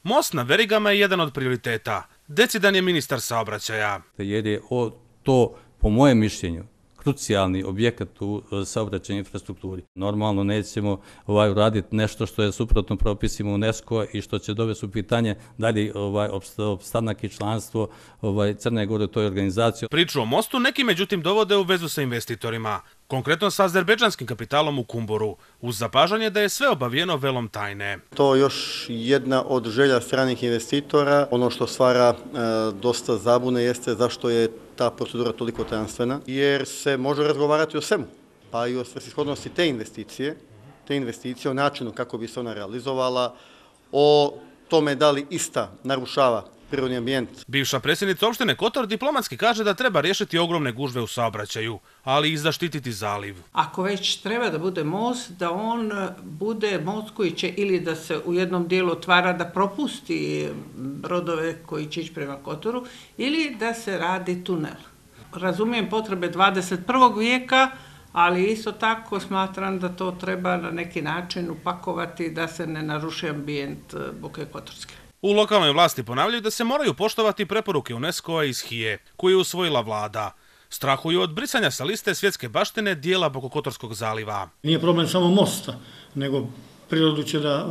Most na Verigama je jedan od prioriteta. Decidan je ministar saobraćaja. Jer je to, po mojem mišljenju, krucijalni objekat u saobraćajnoj infrastrukturi. Normalno nećemo uraditi nešto što je suprotno propisima UNESCO i što će dovesti u pitanje dalje opstanak i članstvo Crne Gore u toj organizaciji. Priču o mostu neki međutim dovode u vezu sa investitorima, konkretno sa azerbejdžanskim kapitalom u Kumboru, uz zapažanje da je sve obavijeno velom tajne. To je još jedna od želja stranih investitora. Ono što stvara dosta zabune jeste zašto je ta procedura toliko tajanstvena, jer se može razgovarati o svemu, pa i o svrsishodnosti te investicije, o načinu kako bi se ona realizovala, o tome da li ista narušava prirodni ambijent. Bivša predsjednica opštine Kotor diplomatski kaže da treba riješiti ogromne gužve u saobraćaju, ali i zaštititi zaliv. Ako već treba da bude most, da on bude most koji će ili da se u jednom dijelu otvara da propusti brodove koji će ići prema Kotoru, ili da se radi tunel. Razumijem potrebe 21. vijeka, ali isto tako smatram da to treba na neki način upakovati da se ne naruši ambijent Boke Kotorske. U lokalnoj vlasti ponavljaju da se moraju poštovati preporuke UNESCO-a iz HIE, koju je usvojila vlada. Strahuju od brisanja sa liste svjetske baštine dijela Bokokotorskog zaliva. Nije problem samo mosta, nego prirodu će da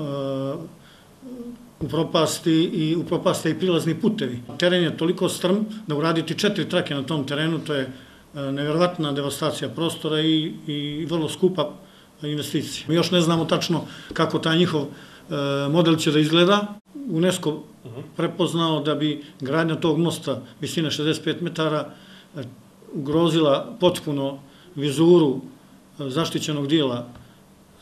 upropaste i prilazni putevi. Teren je toliko strm da uraditi 4 trake na tom terenu, to je nevjerovatna devastacija prostora i vrlo skupa investicija. Mi još ne znamo tačno kako taj njihov model će da izgleda. UNESCO prepoznao da bi gradnja tog mosta visine 65 metara ugrozila potpuno vizuru zaštićenog dijela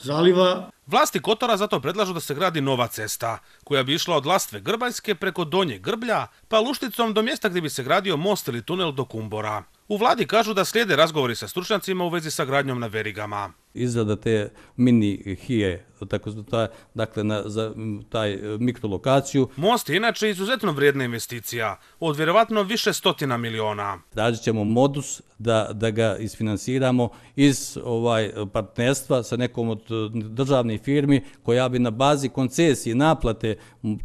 zaliva. Vlasti Kotora zato predlažu da se gradi nova cesta, koja bi išla od Lastve Grbanjske preko Donje Grblja, pa Lušticom do mjesta gdje bi se gradio most ili tunel do Kumbora. U vladi kažu da slijede razgovori sa stručnjacima u vezi sa gradnjom na Verigama. Izrada te mini HIE, dakle za taj mikrolokaciju. Most je inače izuzetno vrijedna investicija, od vjerovatno više stotina miliona. Tražit ćemo modus da ga isfinansiramo iz partnerstva sa nekom od državnih firmi koja bi na bazi koncesije naplate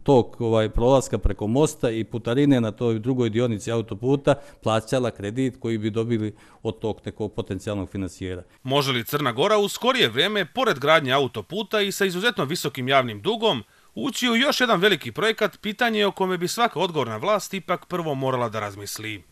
tog prolaska preko mosta i putarine na toj drugoj dionici autoputa plaćala kredit koji bi dobili od tog nekog potencijalnog finansijera. Može li Crna Gora u skorije vrijeme, pored gradnje autoputa i sa izuzetno visokim javnim dugom, ući u još jedan veliki projekat, pitanje o kome bi svaka odgovorna vlast ipak prvo morala da razmisli.